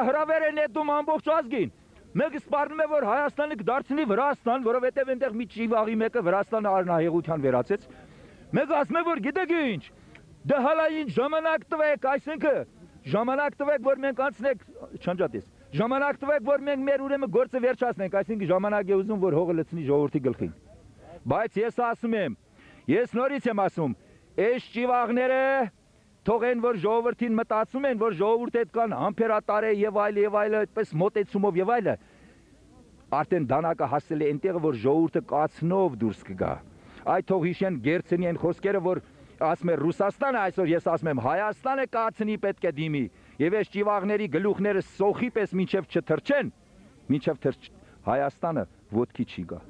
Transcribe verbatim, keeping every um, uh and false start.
Հրավեր են նետում ամբողջ ազգին։ Մեկ սպառնում է, որ Հայաստանը կդարձնի Վրաստան, որովհետև այնտեղ մի ճիվաղի մեկը Վրաստանը արնահեղության վերածեց։ Մեկ ասում է, որ գիտեք ինչ, դե հալա ինչ ժամանակ տվեք, այսինքն ժամանակ տվեք, որ մենք անցնենք, չանջատես, ժամանակ տվեք, որ մենք մեր ուրեմն գործը վերջացնենք, այսինքն ժամանակ է ուզում, որ հողը լցնի ժողովրդի գլխին։ Բայց ես ասում եմ, ես նորից եմ ասում, այս ճիվաղները թողեն, որ ժողովրդին մտածում են, որ ժողովուրդը հետ կան համբերատար է եւ այլ եւ այլ, այդպես մոտեցումով եւ այլը, արդեն դանակը հասել է այնտեղ, որ ժողովուրդը կացնով դուրս կգա։ Այդ թող հիշեն Գերցենի այն խոսքերը, որ ասում է Ռուսաստանը, այսօր ես ասում եմ Հայաստանը կացնի պետք է դիմի, եւ այս ճիվաղների գլուխները սոխի պես մինչեւ չթրջեն, մինչեւ թրջ Հայաստանը ոտքի չի գա։